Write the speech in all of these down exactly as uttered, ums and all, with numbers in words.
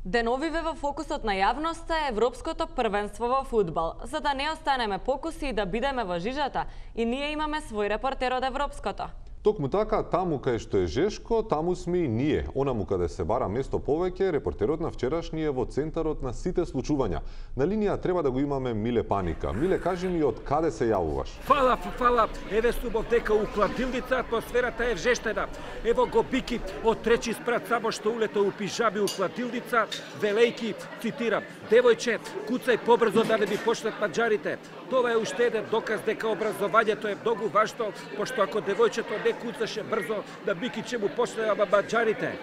Деновиве во фокусот на јавноста е Европското првенство во фудбал. За да не останеме покуси и да бидеме во жижата, и ние имаме свој репортер од Европското. Токму така, таму кај што е Жешко, таму сме и ние. Онаму каде се бара место повеќе, репортерот на вчерашни е во центарот на сите случувања. На линија треба да го имаме Миле Паника. Миле, кажи ми од каде се јавуваш? Фала, фала, еве субов дека у кладилница атмосферата е вжештена. Ево го Бики од треći спрат само што улета у пижами у кладилница, велејки, цитирам: "Девојче, куцај побрзо да не би почнат маđарите." Тоа е уште еден доказ дека образованието е многу важно, пошто ако девојчето не куцаше брзо, на Бики ќе му почнеа маđарите.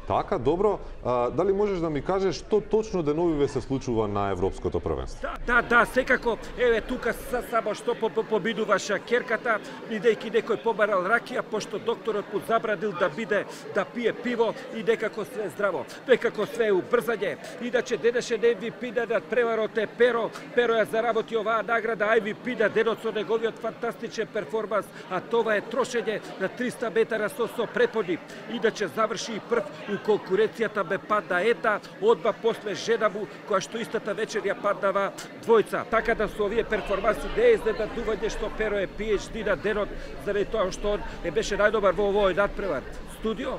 Така, добро. А, дали можеш да ми кажеш што точно деновиве се случува на Европското првенство? Да, да, да, секако. Еве тука са, само што побидува шакерката, бидејќи некој побарал ракија, пошто докторот му забранил да биде да пие пиво и некако све здраво. Некако све убрзање. Иначе денеше Ем Ви Пи над преварот е Перо. Перо ја заработи оваа награда Ем Ви Пи на денот со неговиот фантастичен перформанс, а тоа е трошење на триста метара со со преподи. Иначе заврши и прв у конкуренцијата бе падна една, одма после жена му, која што истата вечер ја паднава двојца. Така да со овие перформанси не е изненадување што Перо е Пи Еч Ди на денот, заради тоа што он е беше најдобар во овој надпревар. Студио?